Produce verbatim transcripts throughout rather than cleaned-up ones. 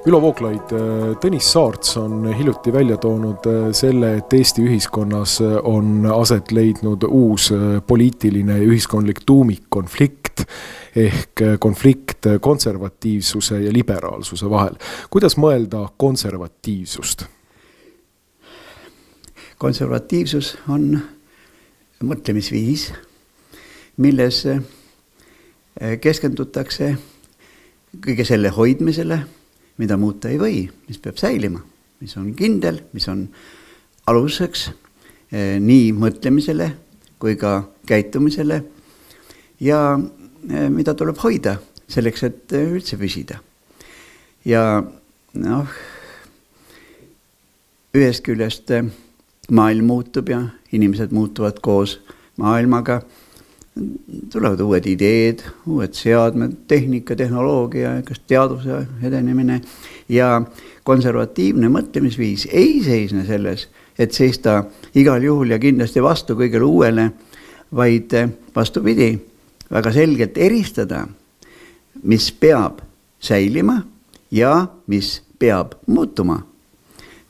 Ülo Vooglaid, Tõnis Saarts on hiljuti välja toonud selle, et Eesti ühiskonnas on aset leidnud uus poliitiline ja ühiskondlik tuumikkonflikt ehk konflikt konservatiivsuse ja liberaalsuse vahel. Kuidas mõelda konservatiivsust? Konservatiivsus on mõtlemisviis, milles keskendutakse kõige selle hoidmisele, mida muuta ei või, mis peab säilima, mis on kindel, mis on aluseks eh, nii mõtlemisele kui ka käitumisele ja eh, mida tuleb hoida selleks, et eh, üldse püsida. Ja noh, ühest küljest eh, maailm muutub ja inimesed muutuvad koos maailmaga, tulevad uued ideed, uued seadmed, tehnika, tehnoloogia, kas teaduse edenemine ja konservatiivne mõtlemisviis ei seisne selles, et seista igal juhul ja kindlasti vastu kõigele uuele, vaid vastupidi, väga selgelt eristada, mis peab säilima ja mis peab muutuma.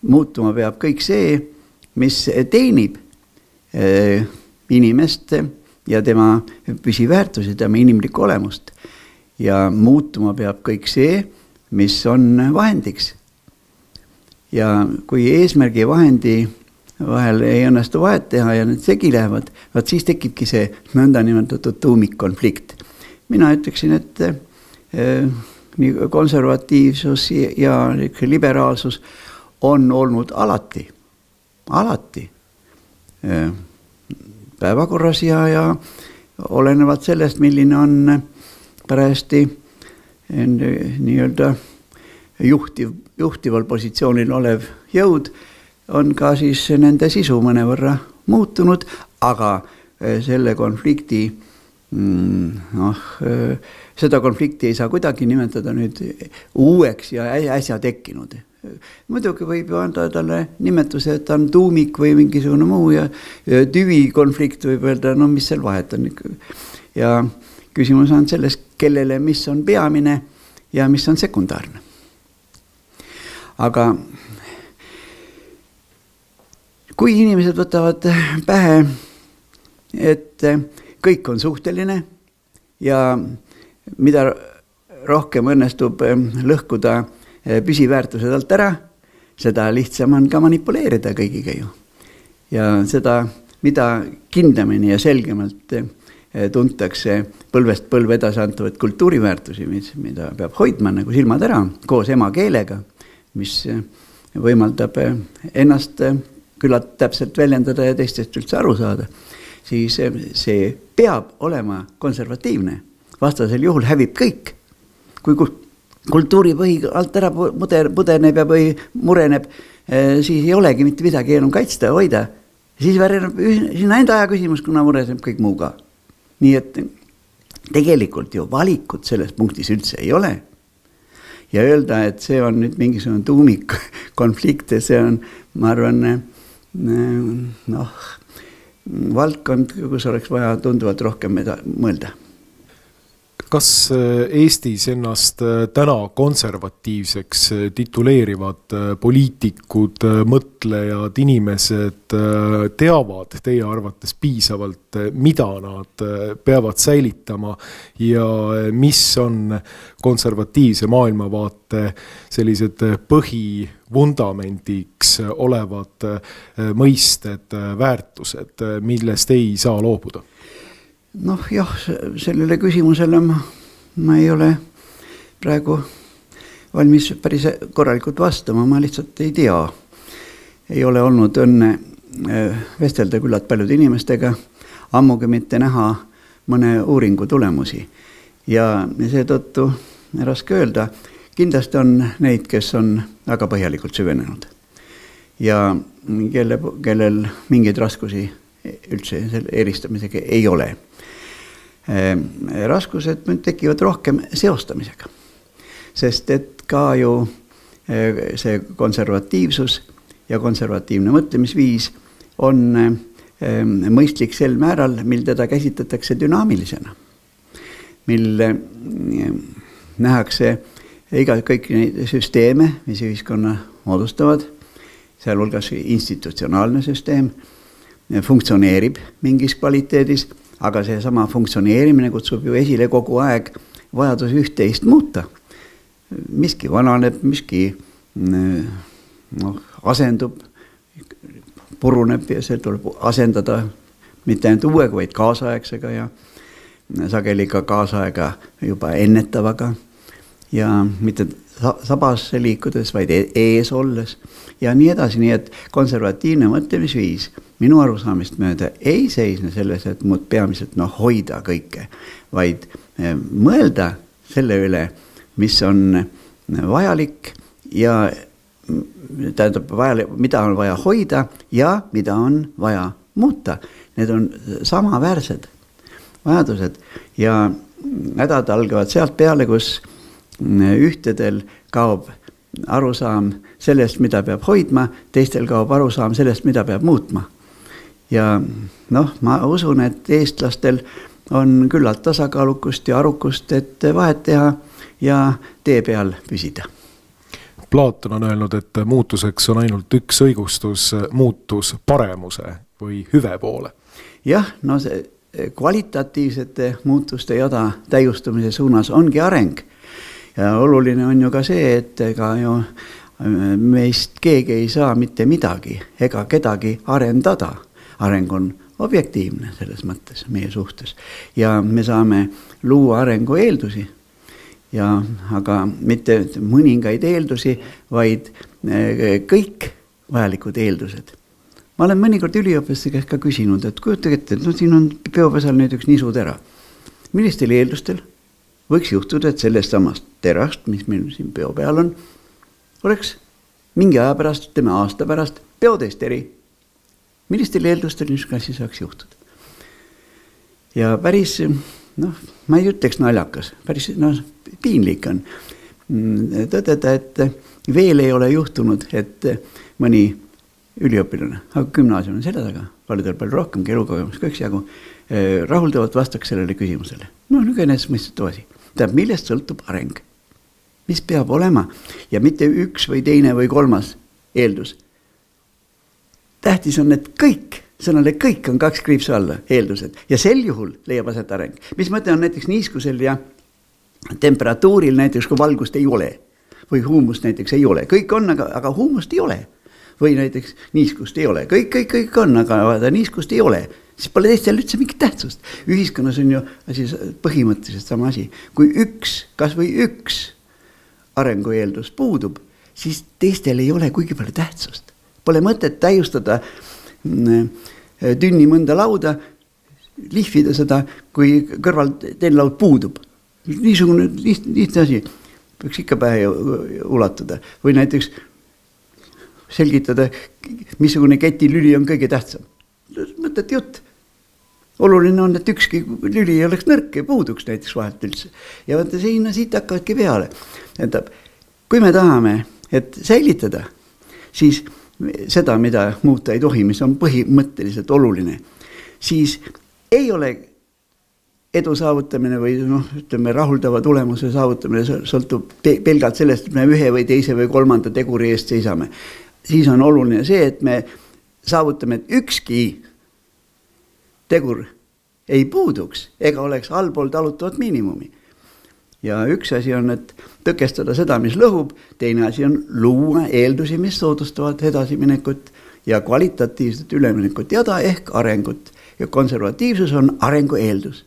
Muutuma peab kõik see, mis teenib eh, inimest ja tema püsiväärtusi, tema inimlikku olemust. Ja muutuma peab kõik see, mis on vahendiks. Ja kui eesmärgi ja vahendi vahel ei õnnestu vahet teha ja need segi lähevad, vaat siis tekibki see nõnda nimetatud tuumikkonflikt. Mina ütleksin, et eh, nii konservatiivsus ja liberaalsus on olnud alati, alati eh, päevakorras ja, ja olenevad sellest, milline on parajasti nii-öelda juhtiv, juhtival positsioonil olev jõud, on ka siis nende sisu mõnevõrra muutunud, aga selle konflikti, noh, seda konflikti ei saa kuidagi nimetada nüüd uueks ja äsja tekkinud. Muidugi võib ju anda talle nimetuse, et on tuumik või mingisugune muu ja tüvikonflikt võib öelda, no mis seal vahet on. Ja küsimus on selles, kellele mis on peamine ja mis on sekundaarne. Aga kui inimesed võtavad pähe, et kõik on suhteline ja mida rohkem õnnestub lõhkuda püsiväärtused alt ära, seda lihtsam on ka manipuleerida kõigiga ju. Ja seda, mida kindlamini ja selgemalt tuntakse põlvest põlve edasi antuvat kultuuriväärtusi, mida peab hoidma nagu silmad ära, koos emakeelega, mis võimaldab ennast küllalt täpselt väljendada ja teistest üldse aru saada, siis see peab olema konservatiivne. Vastasel juhul hävib kõik. Kui kultuuripõhi alt ära pudeneb ja või mureneb, siis ei olegi mitte midagi enam kaitsta ja hoida. Siis väreneb sinna enda aja küsimus, kuna mureneb kõik muu ka. Nii et tegelikult ju valikut selles punktis üldse ei ole. Ja öelda, et see on nüüd mingisugune tuumik konflikt, see on, ma arvan, noh, valdkond, kus oleks vaja tunduvalt rohkem mõelda. Kas Eestis ennast täna konservatiivseks tituleerivad poliitikud, mõtlejad, inimesed teavad teie arvates piisavalt, mida nad peavad säilitama ja mis on konservatiivse maailmavaate sellised põhivundamendiks olevad mõisted, väärtused, millest ei saa loobuda? Noh jah, sellele küsimusele ma, ma ei ole praegu valmis päris korralikult vastama, ma lihtsalt ei tea. Ei ole olnud õnne vestelda küllalt paljude inimestega, ammugi mitte näha mõne uuringu tulemusi. Ja seetõttu raske öelda, kindlasti on neid, kes on väga põhjalikult süvenenud. Ja kelle, kellel mingeid raskusi üldse selle eristamisega ei ole. Raskused tekivad rohkem seostamisega, sest et ka ju see konservatiivsus ja konservatiivne mõtlemisviis on mõistlik sel määral, mil teda käsitletakse dünaamilisena. Mil nähakse iga, kõik neid süsteeme, mis ühiskonna moodustavad, sealhulgas institutsionaalne süsteem, funktsioneerib mingis kvaliteedis, aga see sama funktsioneerimine kutsub ju esile kogu aeg vajadus üht-teist muuta. Miski vananeb, miski no, asendub, puruneb ja see tuleb asendada mitte ainult uuega, vaid kaasaegsega ja sageli ka kaasaega juba ennetavaga ja mitte sabas liikudes, vaid ees olles ja nii edasi, nii et konservatiivne mõtlemisviis minu arusaamist mööda ei seisne selles, et muud peamiselt no, hoida kõike, vaid mõelda selle üle, mis on vajalik ja tähendab, vajalik, mida on vaja hoida ja mida on vaja muuta. Need on samaväärsed vajadused ja hädad algavad sealt peale, kus ühtedel kaob arusaam sellest, mida peab hoidma, teistel kaob arusaam sellest, mida peab muutma. Ja noh, ma usun, et eestlastel on küllalt tasakaalukust ja arukust, et vahet teha ja tee peal püsida. Platon on öelnud, et muutuseks on ainult üks õigustus, muutus paremuse või hüve poole. Jah, no see kvalitatiivsete muutuste jada täiustumise suunas ongi areng. Ja oluline on ju ka see, et ega ju meist keegi ei saa mitte midagi ega kedagi arendada. Areng on objektiivne selles mõttes meie suhtes ja me saame luua arengu eeldusi. Ja, aga mitte mõningaid eeldusi, vaid kõik vajalikud eeldused. Ma olen mõnikord üliõpilaste käest ka küsinud, et kujutage ette, no siin on peopesal nüüd üks nisutera. Millistel eeldustel võiks juhtuda, et sellest samast terast, mis meil siin peo peal on, oleks mingi aja pärast, teeme aasta pärast, peotesteri. Millistel eeldustel niisugune asi saaks juhtuda? Ja päris, noh, ma ei ütleks naljakas, päris no, piinlik on tõdeda, et veel ei ole juhtunud, et mõni üliõpilane, aga gümnaasium on selle taga, paljudel palju rohkem, elukogemus kõik jagu, rahuldavalt vastaks sellele küsimusele. No, nüüd ennast mõistetu asi. Tähendab, millest sõltub areng? Mis peab olema? Ja mitte üks või teine või kolmas eeldus. Tähtis on, et kõik, sõnale kõik on kaks kriipsu alla eeldused ja sel juhul leiab aset areng. Mis mõte on näiteks niiskusel ja temperatuuril näiteks, kui valgust ei ole või huumust näiteks ei ole. Kõik on, aga, aga huumust ei ole. Või näiteks niiskust ei ole. Kõik, kõik, kõik on, aga vaada, niiskust ei ole. Siis pole teistel üldse mingit tähtsust. Ühiskonnas on ju asi, põhimõtteliselt sama asi. Kui üks, kas või üks arengueeldus puudub, siis teistel ei ole kuigi palju tähtsust. Pole mõtet täiustada tünni mõnda lauda, lihvida seda, kui kõrval teine laud puudub. Niisugune lihtne asi peaks ikka pähe ulatuda. Või näiteks selgitada, missugune ketilüli on kõige tähtsam. Mõtled jutt. Oluline on, et ükski lüli ei oleks nõrk ja puuduks näiteks vahelt üldse. Ja vaata, siin siit hakkavadki peale. Tähendab, kui me tahame, et säilitada, siis seda, mida muuta ei tohi, mis on põhimõtteliselt oluline, siis ei ole edu saavutamine või noh, ütleme, rahuldava tulemuse saavutamine sõltub pelgalt sellest, et me ühe või teise või kolmanda teguri eest seisame. Siis on oluline see, et me saavutame, et ükski tegur ei puuduks ega oleks allpool talutavat miinimumi. Ja üks asi on, et tõkestada seda, mis lõhub, teine asi on luua eeldusi, mis soodustavad edasiminekut ja kvalitatiivset üleminekut jada ehk arengut. Ja konservatiivsus on arengu eeldus.